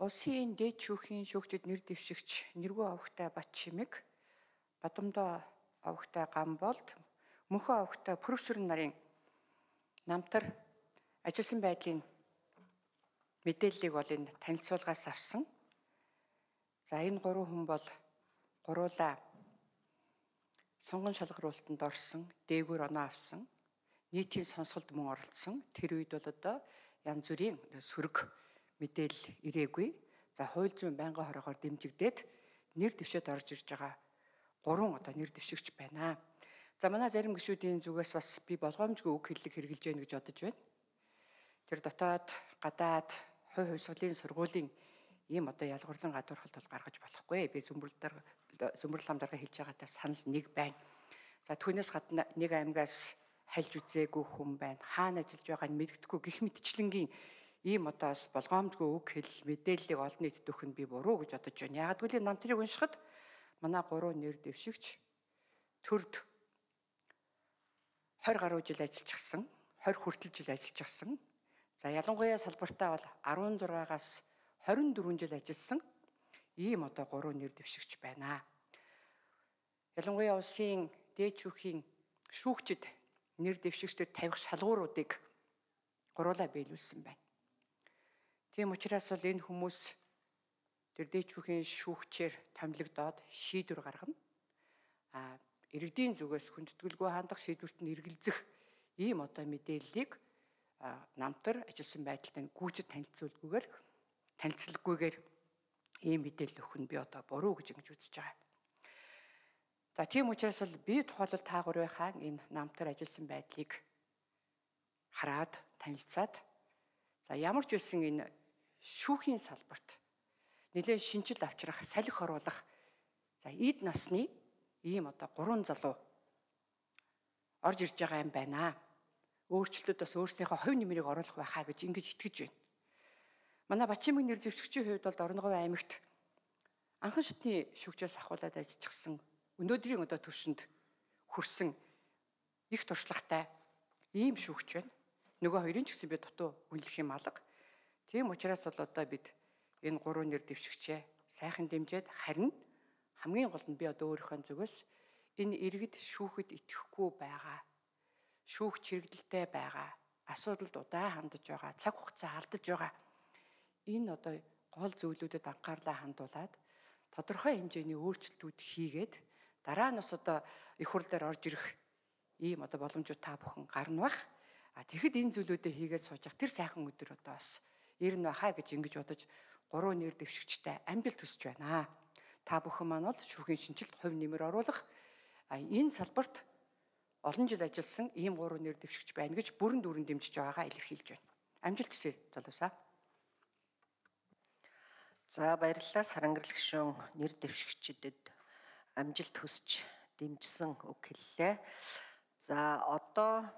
Улсын дээд шүүхийн шүүгчид нэр дэвшигч Нэргүү Авагтай Батчимэг, Бадамдоо Авагтай Гамболд, Мөнхөө Авагтай Пүрвсүрэн нарын намтар ажилласан байдлын мэдээллийг бол энэ танилцуулгаас авсан. За энэ гурван хүн бол гуруула сонгон шалгаруулалтанд орсон, дээгүүр оноо авсан, нийтийн сонсголд мөн оролцсон. Тэр үед бол одоо янз бүрийн сөрөг мэдээлэл ирээгүй. За хууль зүйн байнгын хорогоор дэмжигдээд нэр дэвшээд орж ирж байгаа гурван одоо нэр дэвшигч байна. За манай зарим гишүүдийн зүгээс бас би болгоомжгүй үг хэллэг хэрэгжилж байна гэж бодож байна. Тэр дотоод гадаад хувь хувьсгалын сургуулийн ийм одоо ялгуурлан гадуурхалт бол гаргаж болохгүй. Би зөмбөрл хамдарга хэлж байгаатай санал нэг байна. За түүнээс гадна нэг аймгаас хальж үзээгүй хүн байна. Хаана ажиллаж байгааг нь мэддэхгүй гэх мэтчлэнгийн ийм одоо бас болгоомжгүй үг хэл мэдээллийг олон нийтэд өгөх нь би буруу гэж бодож байна. Яагад гэвэл намтрыг уншихад манай гурван нэр дэвшигч төрд 20 гаруй жил ажиллажсэн, 20 хүртэл жил ажиллажсэн. За ялангуяа салбартаа бол 16-аас 24 жил ажилласан ийм одоо гурван нэр дэвшигч байна. Ялангуяа улсын дээд шүүхийн шүүгчид нэр дэвшигчдэд тавих шалгууруудыг гуруулаа биелүүлсэн байна. Тийм учраас бол энэ хүмүүс тэр дээд шүүхийн шүүгчээр томилогдоод шийдвэр гаргана. Иргэдийн зүгээс хүндэтгэлгүй хандах шийдвэрт нь эргэлзэх ийм одоо мэдээллийг намтар ажилласан байдалтай гүйцэд танилцуулгүйгээр ийм мэдээлэл өгөх нь би одоо буруу гэж ингэж үзэж байгаа. За тийм учраас бол би тухайлбал та гурвынхаа энэ намтар ажилласан байдлыг хараад танилцаад за ямар ч байсан энэ шүүхийн салбарт нэлээд шинжил авчрах, салхи оруулах за эд насны ийм одоо гурван залуу орж ирж байгаа юм байна. Өөрчлөлтөд бас өөрсдийнхөө хувь нэмрийг оруулах байхаа гэж ингэж итгэж байна. Манай Батчимэг нэр дэвшигчийн хувьд бол Орон говь аймагт анхан шатны шүүгчээс ахуулаад ажиллажсэн өнөөдрийн одоо түвшинд хүрсэн их туршлагатай ийм шүүгч байна. Нөгөө хоёрын ч гэсэн би дутуу үнэлэх юм алга. Тийм учраас бол одоо бид энэ гурван нэр дэвшигчээ сайхан дэмжиж харин хамгийн гол нь би одоо өөрийнхөө зүгээс энэ иргэд шүүхэд итгэхгүй байгаа, шүүгч хэрэгдэлтэй байгаа, асуудалд удаан хандаж байгаа, цаг хугацаа алдаж байгаа энэ одоо гол зүйлүүдэд анхаарлаа хандуулад тодорхой хэмжээний өөрчлөлтүүд хийгээд дараа нь бас одоо их хурл дээр орж ирэх ийм одоо боломжууд та бүхэн гарна бах. Тэгэхэд энэ зүйлүүдээ хийгээд сууж явах тэр сайхан өдөр одоо бас ирнэ бахаа гэж ингэж бодож гурван нэр дэвшигчтэй амжилт хүсэж байна. Та бүхэн маань бол шүүхийн шинжилт хувь нэмэр оруулах энэ салбарт олон жил ажилласан ийм гурван нэр дэвшигч байна гэж бүрэн дүүрэн дэмжиж байгаагаа илэрхийлж байна. Амжилт хүсье залуусаа. За баярлалаа Сарангэрл гишүүн нэр дэвшигчдэд амжилт хүсэж дэмжсэн үг хэллээ. За одоо